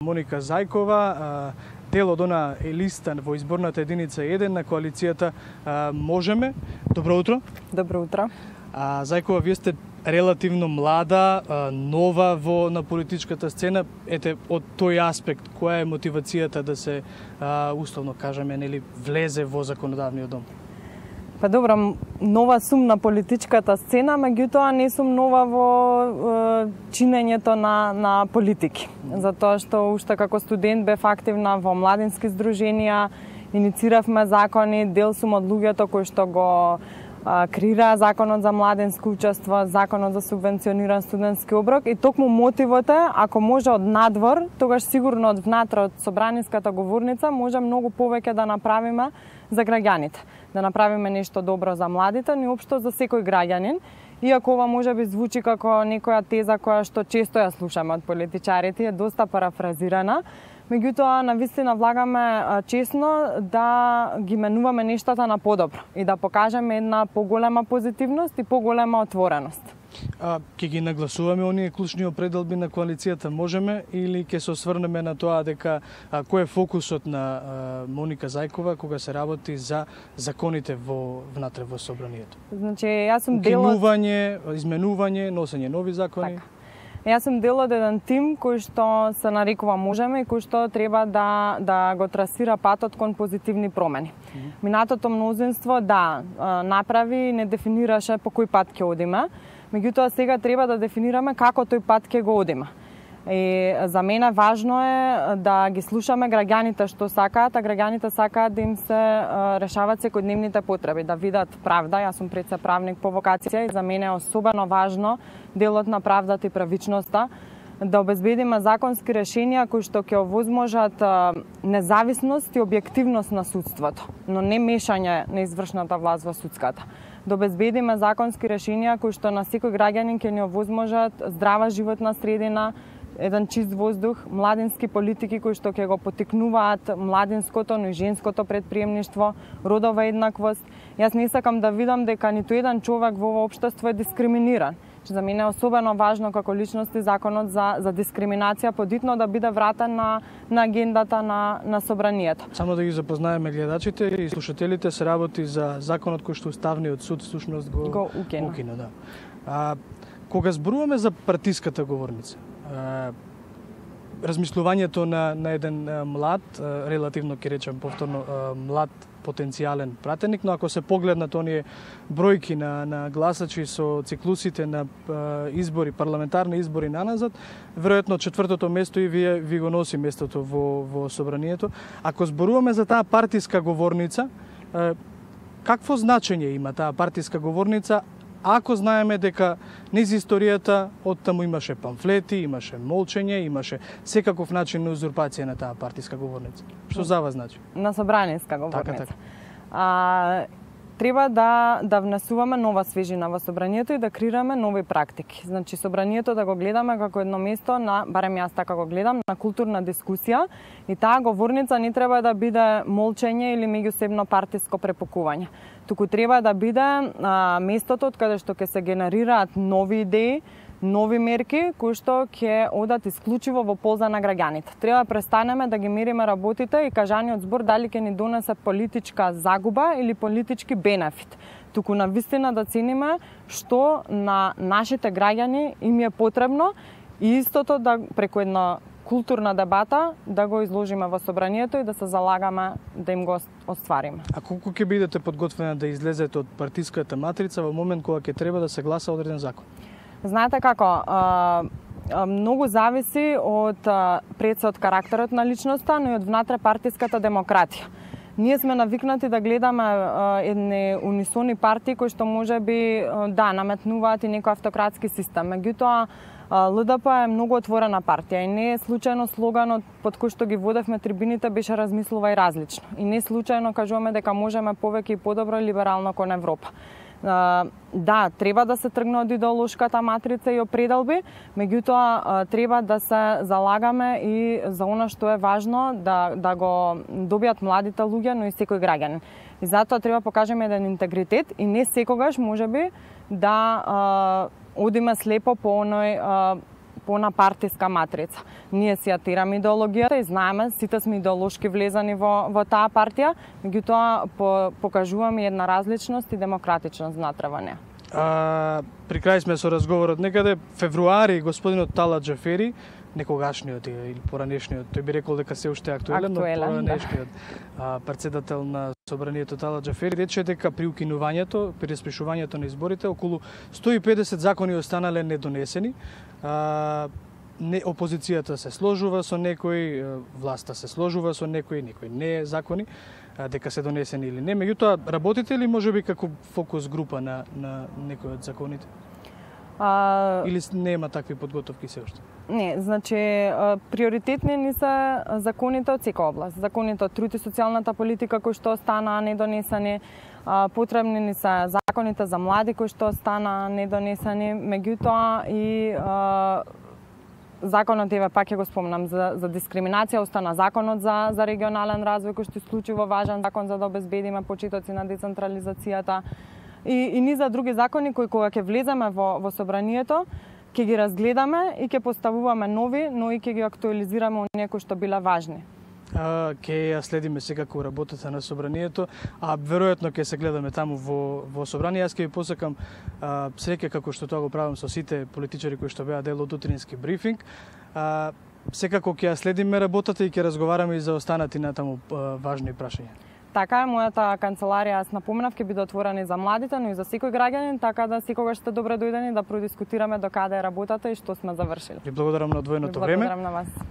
Моника Зајкова, дел од она листа во изборната единица 1 на коалицијата Можеме. Добро утро. Добро утро. Зајкова, вие сте релативно млада, нова на политичката сцена. Ете, од тој аспект, која е мотивацијата да се, условно кажеме, нели, влезе во законодавниот дом? Па добро, нова сум на политичката сцена, меѓутоа не сум нова во чинењето на политики. Затоа што уште како студент бев активна во младински здруженија, иницииравме закони, дел сум од луѓето кои што го креираа законот за младинско учество, законот за субвенциониран студентски оброк, и токму мотивот е, ако може од надвор, тогаш сигурно од внатре, од собраниската говорница, може многу повеќе да направиме за граѓаните. Да направиме нешто добро за младите, но и општо за секој граѓанин. Иако ова може би звучи како некоја теза која што често ја слушаме од политичарите, е доста парафразирана, меѓутоа навистина влагаме честно да ги менуваме нештата на подобро и да покажеме една поголема позитивност и поголема отвореност. Ќе ги нагласуваме оние клучни определби на коалицијата Можеме или ќе се осврнеме на тоа дека кој е фокусот на Моника Зајкова кога се работи за законите внатре во собранието? Значи, јас сум дел од изменување, носење нови закони. Така. Јас сум дел од еден тим кој што се нарекува Можеме и кој што треба да го трасира патот кон позитивни промени. Минатото мнозинство направи и не дефинираше по кој пат ќе одиме, меѓутоа сега треба да дефинираме како тој пат ќе го одиме. И за мене важно е да ги слушаме граѓаните што сакаат, а граѓаните сакаат да им се решават секојдневните потреби, да видат правда. Јас сум пред се правник по вокација и за мене е особено важно делот на правдата и правичноста, да обезбедиме законски решенија кои што ќе овозможат независност и објективност на судството, но не мешање на извршната власт во судската. Да обезбедиме законски решенија кои што на секој граѓанин ќе ни овозможат здрава животна средина, еден чист воздух, младински политики кои што ќе го потикнуваат младинското, но и женското предприемништво, родова еднаквост. Јас не сакам да видам дека ниту еден човек во ова општество е дискриминиран. За мене е особено важно како личност и законот за дискриминација подитно да биде вратен на агендата на собранието. Само да ги запознаеме гледачите и слушателите, се работи за законот кој што Уставниот суд всушност го укина. Кога зборуваме за партиската говорница, размислувањето на еден млад, релативно ќе речем повторно млад потенцијален пратеник, но ако се погледнат оние бројки на гласачи со циклусите на избори, парламентарни избори наназад, веројатно четвртото место и ви го носи местото во собранието. Ако зборуваме за таа партиска говорница, какво значење има таа партиска говорница, ако знаеме дека низ историјата од таму имаше памфлети, имаше молчење, имаше секаков начин на узурпација на таа партиска говорница? Што за вас значи? На собраниска говорница. Треба да внесуваме нова свежина во собранието и да креираме нови практики. Значи, собранието да го гледаме како едно место на, барем јас така го гледам, на културна дискусија, и таа говорница не треба да биде молчење или меѓусебно партиско препукување. Туку треба да биде местото од каде што ќе се генерираат нови идеи, нови мерки кои што ќе одат исклучиво во полза на граѓаните. Треба да престанеме да ги мериме работите и кажаниот збор дали ќе ни донесе политичка загуба или политички бенефит. Туку навистина да цениме што на нашите граѓани им е потребно и истото да преку една културна дебата да го изложиме во собранието и да се залагаме да им го оствариме. А колку ќе бидете подготвена да излезете од партиската матрица во момент кога ќе треба да се гласа одреден закон? Знаете како, многу зависи пред се од карактерот на личноста, но и од внатре партиската демократија. Ние сме навикнати да гледаме едни унисони партии кои што може би наметнуваат и некој автократски систем. Меѓутоа, ЛДП е многу отворена партија и не е случајно слоганот под кој што ги водевме трибините беше размислува и различно. И не случајно кажуваме дека можеме повеќе и подобро и либерално кон Европа. Треба да се тргне од идеолошката матрица и определби, меѓутоа треба да се залагаме и за она што е важно да го добијат младите луѓе, но и секој граѓанин. И затоа треба покажеме еден интегритет и не секогаш можеби да одиме слепо по оној по на партиска матрица. Ние си ја тераме идеологијата и знаеме, сите сме идеолошки влезани во таа партија, меѓутоа покажуваме една различност и демократичност внатре во неа. При крај сме со разговорот некаде февруари господинот Талат Џафери, некогашниот или поранешниот, тој би рекол дека се уште актуелен, но поранешниот претседател на собранието Талат Џафери рече дека при укинувањето, при распишувањето на изборите, околу 150 закони останале недонесени. Опозицијата се сложува со некои, власта се сложува со некои не закони, дека се донесени или не. Меѓутоа, работите ли можеби како фокус група на некои од законите? Или нема такви подготовки се уште? Не, значи приоритетни ни се законите од секоја област. Законите од труд и социјалната политика кои што останаа недонесени, потребни ни се законите за млади кои што останаа недонесени, меѓутоа и законот, еве пак ќе го спомнам, за дискриминација остана законот за регионален развој кој што е исклучиво важен закон за да обезбедиме почетоци на децентрализацијата и низа други закони кои кога ќе влеземе во собранието ќе ги разгледаме и ќе поставуваме нови, но и ќе ги актуализираме оние кои што биле важни. Ќе ја следиме секако работата на собранието, а веројатно ќе се гледаме таму во собрание. Јас ќе ви посакам среќа како што тоа го правам со сите политичари кои што беа дел од утрински брифинг. Секако ќе ја следиме работата и ќе разговараме и за останати натаму важни прашања. Така е, мојата канцеларија, јас напоменав, ќе биде отворена и за младите, но и за секој граѓанин, така да секогаш сте добре дојдени да продискутираме до каде е работата и што сме завршили. Ви благодарам на одвоеното време. Благодарам на вас.